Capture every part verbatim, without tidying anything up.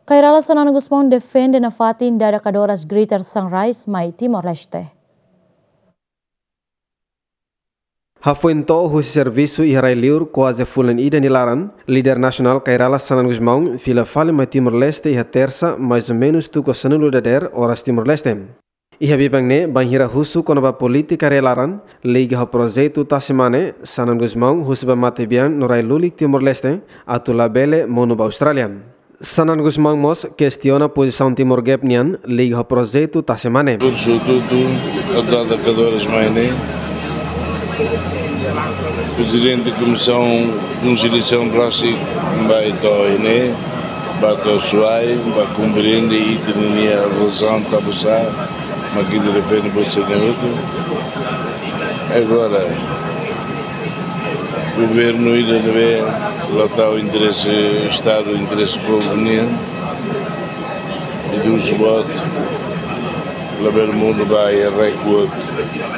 Kay Rala Xanana Gusmão defende nafatin dada kadoras Greater Sunrise mai Timor-Leste. Hafoin to'o husi servisu iha rai-liur kuaze fulan ida nia laran, líder nasionál Kay Rala Xanana Gusmão fila fali mai Timor-Leste iha Tersa, mais ou menus tuku sanulu dadeer oras Timor-Leste. Iha biban ne'e bainhira husu kona-ba polítika rai-laran liga ho projetu tasi mane, Xanana Gusmão husu ba matebian no rai lulik Timor-Leste atu labele monu ba Austrália. Xanana Gusmão mós kestiona pozisaun Timor Gap nian liga ho projetu tasi mane. Kursu tutu, atleta kadoras mai ne'e. Prezidente Komisaun Konsiliasaun rasik mai to'o iha ne'e, ba to'o Suai, ba komprende ita-nia razaun tanba sá mak ita defende buat sira-ne'e hotu. Agora, governu ida ne'ebé la tau interese Estadu, interese povu nian, ita husu boot, labele monu ba iha rai-kuak,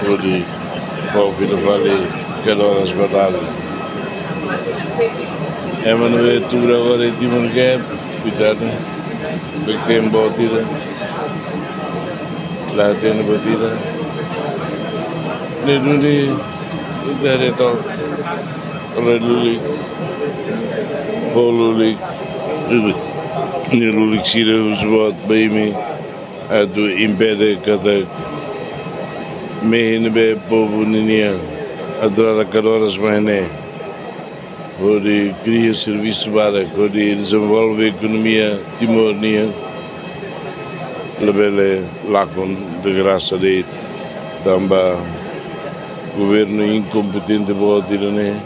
hodi fó fila fali kadoras ba dala. Ema ne'ebé tuur agora iha Timor Gap, koitadu, bek tem boot ida, la tem boot ida. Ne'e duni, ita haree took, rai lulik, povu lulik, rai lulik sira husu boot ba imi atu impede katak mehi ne'ebé povu ninian atrasa kadoras mai ne'e, hodi kria servisu barak, hodi dezenvolve ekonomia Timor nian, labele lakon de grasa de'it, tanba governu inkompetente boot ida ne'e,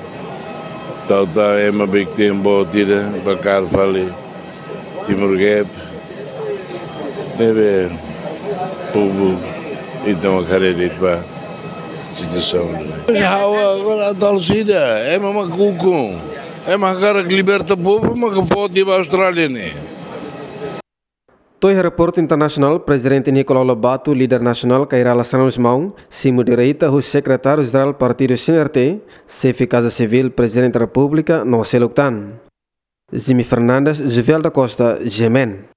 tau tan ema bek tem boot ida ba kaer fali Timor Gap, ne'ebé povu ita mak haree de'it ba situasaun ne'e. Ha'u agora atu halo saida, ema mak ukun, ema hakarak liberta povu mak foti ba Austrália ne'e. To'o iha reporte internasionál, Prezidente Nicolau Lobato, líder nasionál Kay Rala Xanana Gusmão simu direita husi Sekretáriu Jerál Partidu C N R T, Xefe Kaza Sivíl Prezidente Repúblika no seluk tan. Jimmy Fernandes, Juvel da Costa, G M N.